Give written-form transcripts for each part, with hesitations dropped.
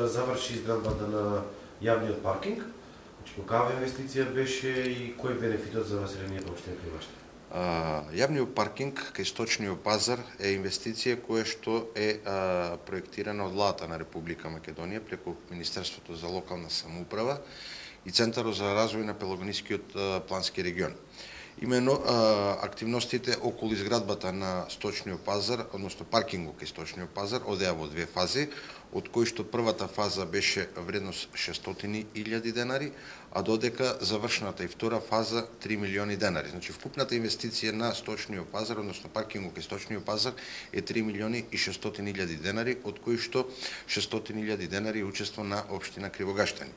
Заврши изградбата на јавниот паркинг. Каква инвестиција беше и кој е бенефитот за населението општина Кривоште? Јавниот паркинг кај Сточниот пазар е инвестиција која што е проектирана од владата на Република Македонија преку Министерството за локална самоуправа и Центарот за развој на Пелагонискиот плански регион. Имено активностите околу изградбата на Сточниот пазар, односно паркингот кај Сточниот пазар, одеа во две фази, од кои што првата фаза беше вредност 600.000 денари, а додека завршената и втора фаза 3 милиони денари. Значи вкупната инвестиција на Сточниот пазар, односно паркингот кај Сточниот пазар е 3 милиони и 600.000 денари, од кои што 600.000 денари учество на општина Кривогаштани.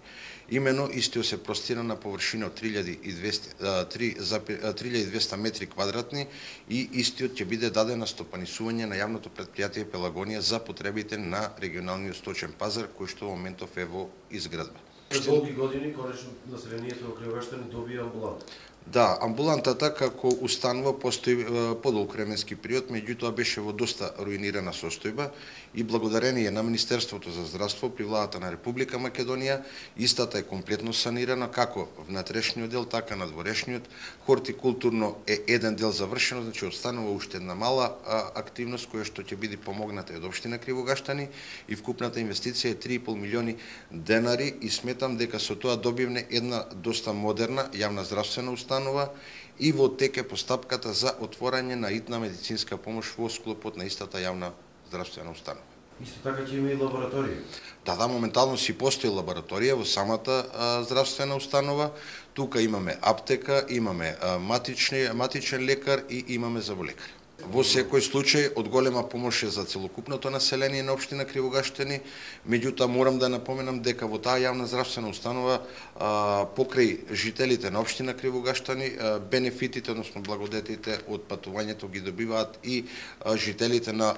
Имено истиот се простира на површина од 3200 метри квадратни и истиот ќе биде даден на стопанисување на јавното претпријатие Пелагонија за потребите на регионалниот сточен пазар кој што во моментов е во изградба. Пред долги години конечно населението во Кривогаштани добија амбуланта. Да, амбулантата како установа постои подолг временски период, меѓутоа беше во доста руинирана состојба и благодарение на Министерството за здравство при владата на Република Македонија, истата е комплетно санирана, како внатрешниот дел, така надворешниот. Хортикултурно е еден дел завршено, значи останува уште една мала активност која што ќе биде помогната од општина Кривогаштани и вкупната инвестиција е 3,5 милиони денари и сметам дека со тоа добивне една доста модерна јавна здравствена установа и во тек е постапката за отворање на итна медицинска помош во склопот на истата јавна здравствена установа. Исто така ќе има и лабораторија. Да, моментално си постои лабораторија во самата здравствена установа. Тука имаме аптека, имаме матичен лекар и имаме заболекар. Во секој случај од голема помош е за целокупното население на општина Кривогаштани, меѓутоа морам да напоменам дека во таа јавна здравствена установа покрај жителите на општина Кривогаштани бенефитите, односно благодетите од патувањето ги добиваат и жителите на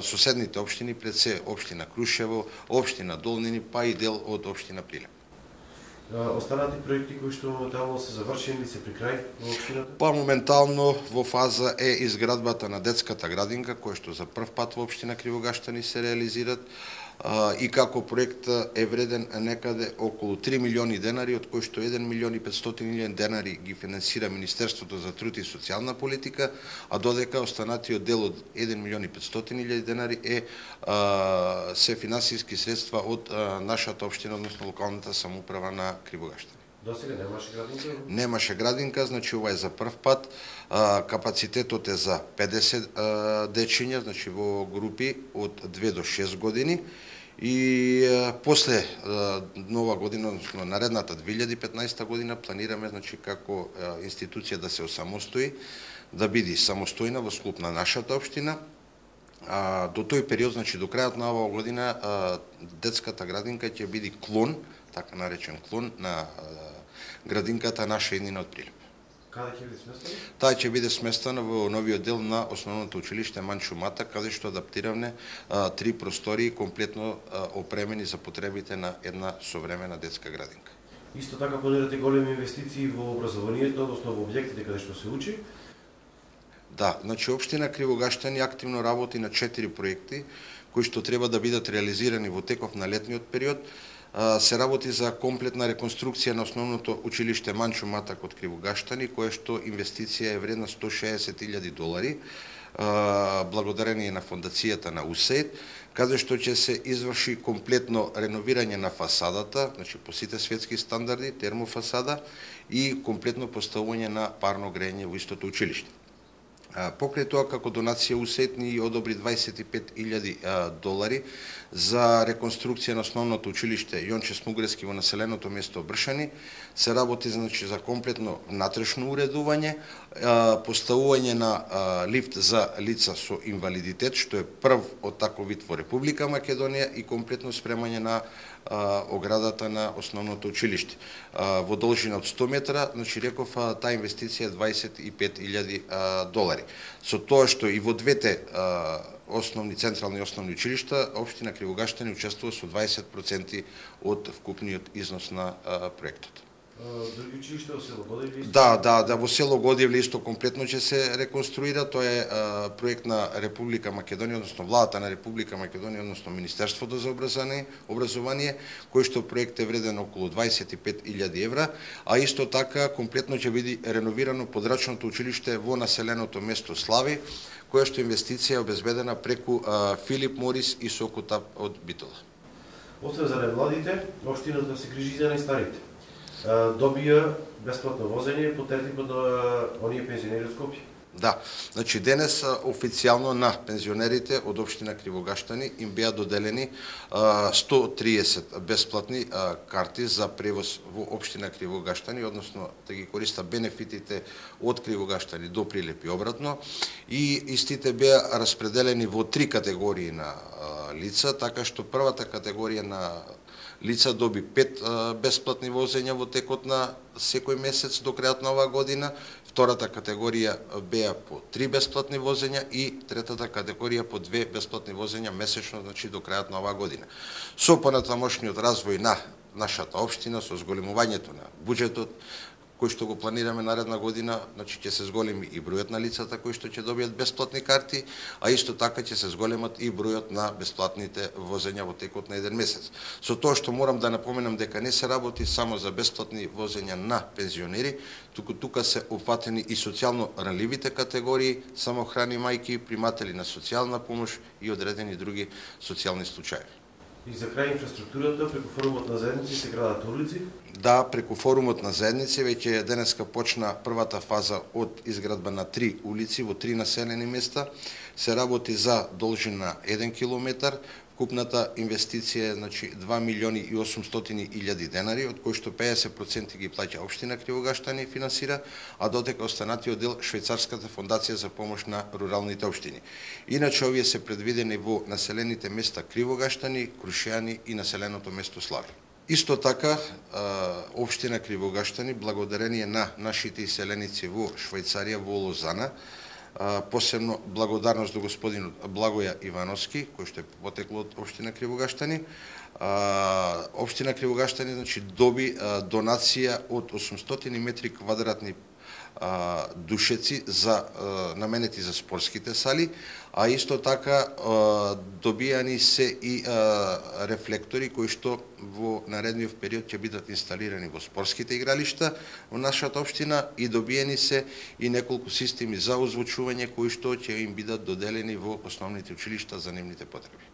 соседните општини, пред се општина Крушево, општина Долнини, па и дел од општина Прилеп. Останати проекти кои што моментално се завршени или се при крај во општината? Па моментално во фаза е изградбата на детската градинка, која што за прв пат во општина Кривогаштани се реализират и како проект е вреден некаде околу 3 милиони денари, од кои што 1 милион и 500.000 денари ги финансира Министерството за труд и социјална политика, а додека останатиот дел од 1 милион и 500.000 денари е се финансиски средства од нашата општина, односно локалната самоуправа на Кривогаштани. Досега немаше градинка? Немаше градинка, значи ова е за прв пат. Капацитетот е за 50 дечиња, значи во групи од 2 до 6 години. И после нова година, односно наредната 2015 година, планираме значи како институција да се осамостои, да биде самостојна во склоп на нашата општина. До тој период, значи до крајот на оваа година, детската градинка ќе биде клон, така наречен клон на градинката наша иднина од Прилеп. Каде ќе биде сместена? Таа ќе биде сместена во новиот дел на основното училиште Манчо Мата, каде што адаптиравме 3 простории комплетно опремени за потребите на една современа детска градинка. Исто така планирате големи инвестиции во образованието, односно во објектите каде што се учи? Да, значи општина Кривогаштани активно работи на 4 проекти кои што треба да бидат реализирани во теков на летниот период. Се работи за комплетна реконструкција на основното училиште Манчо Мата код Кривогаштани, кое што инвестиција е вредна $160.000, благодарение на фондацијата на УСАИД, каде што ќе се изврши комплетно реновирање на фасадата, значи по сите светски стандарди, термофасада и комплетно поставување на парно грејење во истото училиште. Покрај тоа, како донација УСАИД ни одобри $25.000 за реконструкција на основното училиште Јонче Смугрески во населеното место Бршани. Се работи значи за комплетно внатрешно уредување, поставување на лифт за лица со инвалидитет, што е прв од таков вид во Република Македонија, и комплетно спремање на оградата на основното училиште. Во должина од 100 метра, значи реков, таа инвестиција е $25.000. Со тоа што и во двете централни основни училишта, општина Кривогаштани учествува со 20% од вкупниот износ на проектот. Други училишта во село Годевле? Да, во село Годевле исто комплетно ќе се реконструира. Тоа е проект на Република Македонија, односно владата на Република Македонија, односно Министерството за образование, кој што проект е вреден околу 25.000 евра, а исто така комплетно ќе биде реновирано подрачното училиште во населеното место Слави, која што инвестиција е обезбедена преку Филип Морис и Сокотап од Битола. Освен за немладите, општината се грижи за најстарите. Добија бесплатно возење по тертипот на оние пензионери од Скопје. Да, значи денес официјално на пензионерите од општина Кривогаштани им беа доделени 130 бесплатни карти за превоз во општина Кривогаштани, односно да ги користа бенефитите од Кривогаштани до Прилеп и обратно, и истите беа распределени во 3 категории на лица, така што првата категорија на лица доби 5 бесплатни возења во текот на секој месец до крајот на оваа година, втората категорија беа по 3 бесплатни возења и третата категорија по 2 бесплатни возења месечно, значи до крајот на оваа година. Со понатамошниот развој на нашата општина, со зголемувањето на буџетот, кој што го планираме наредна година, значи ќе се зголеми и бројот на лицата кои што ќе добијат бесплатни карти, а исто така ќе се зголемат и бројот на бесплатните возења во текот на еден месец. Со тоа што морам да напоменам дека не се работи само за бесплатни возења на пензионери, туку тука се опфатени и социјално ранливите категории, самохрани мајки, приматели на социјална помош и одредени други социјални случаи. И за крај инфраструктурата, преку форумот на заедници се градат улици? Да, преку форумот на заедници веќе денеска почна првата фаза од изградба на 3 улици во 3 населени места. Се работи за должина 1 километар. Вкупната инвестиција е 2.800.000 денари, од кои што 50% ги плаќа општина Кривогаштани финансира, а дотека останатиот дел Швајцарската фондација за помош на руралните општини. Иначе овие се предвидени во населените места Кривогаштани, Крушеани и населеното место Слави. Исто така, општина Кривогаштани, благодарение на нашите иселеници во Швајцарија, во Лозана, посебно благодарност до господинот Благоја Ивановски, кој што е потекло од општина Кривогаштани. Општина Кривогаштани доби донација од 800 метри квадратни душеци за наменети за спортските сали, а исто така добијани се и рефлектори кои што во наредниот период ќе бидат инсталирани во спортските игралишта во нашата општина, и добиени се и неколку системи за озвучување кои што ќе им бидат доделени во основните училишта за нивните потреби.